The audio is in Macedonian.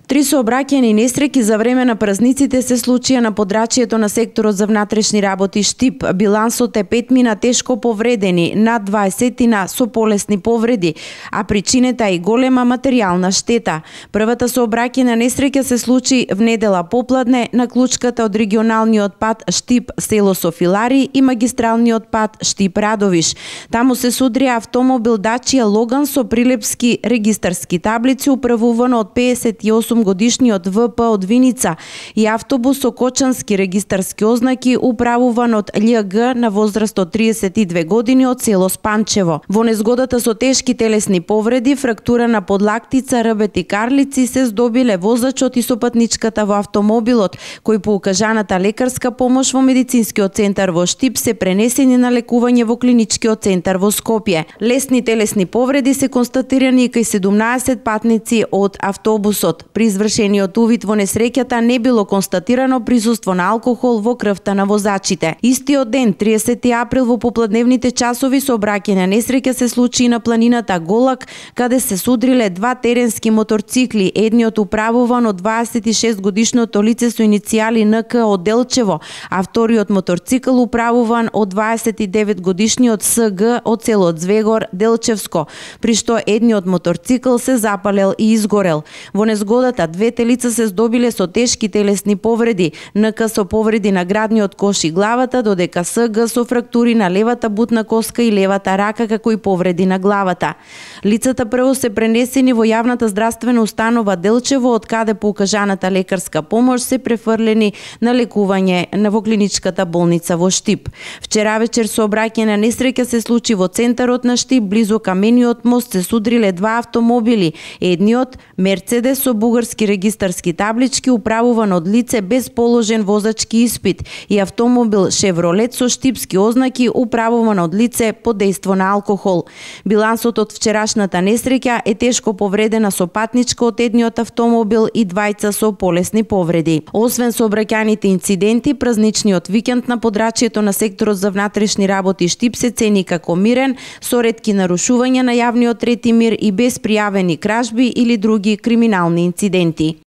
3 сообраќајни несреќи за време на празниците се случија на подрачјето на секторот за внатрешни работи Штип. Билансот е 5 тешко повредени, над 20 со полесни повреди, а причината е и голема материјална штета. Првата сообраќајна несреќа се случи в недела попладне на клучката од регионалниот пат Штип село Софилари и магистралниот пат Штип Радовиш. Таму се судрија автомобил Дачија Логан со прилепски регистарски таблици управуван од 58 годишниот ВП од Виница и автобус со кочански регистарски ознаки управуван од љГ на возраст од 32 години од село Спанчево. Во незгодата со тешки телесни повреди, фрактура на подлактица, рбет и карлици се здобиле возачот и сопатничката во автомобилот, кои по укажаната лекарска помош во медицинскиот центар во Штип се пренесени на лекување во клиничкиот центар во Скопје. Лесни телесни повреди се констатирани и кај 17 патници од автобусот. При извршениот увид во несреќата не било констатирано присуство на алкохол во крвта на возачите. Истиот ден, 30 април, во попладневните часови сообраќајна несреќа се случи на планината Голак, каде се судриле 2 теренски моторцикли, едниот управуван од 26 годишното лице со иницијали НК од Делчево, а вториот моторцикл управуван од 29 годишниот СГ од село Звегор, Делчевско, при што едниот моторцикл се запалел и изгорел. Во незгодата двете лица се здобиле со тешки телесни повреди, НК со повреди на градниот кош и главата, додека СГ со фрактури на левата бутна коска и левата рака, како и повреди на главата. Лицата прво се пренесени во јавната здравствена установа Делчево, од каде по укажаната лекарска помош се префрлени на лекување во клиничката болница во Штип. Вчера вечер сообраќајна несреќа се случи во центарот на Штип, близу Камениот мост се судриле 2 автомобили, едниот Мерцедес со бугарски регистарски таблички управуван од лице без положен возачки испит и автомобил Шевролет со штипски ознаки управуван од лице под дејство на алкохол. Билансот од вчерашната несреќа е тешко повредена сопатничка од едниот автомобил и 2 со полесни повреди. Освен сообраќајните инциденти, празничниот викенд на подрачјето на секторот за внатрешни работи Штип се цени како мирен, со ретки нарушувања на јавниот ред и мир и без пријавени кражби или други криминални инциденти.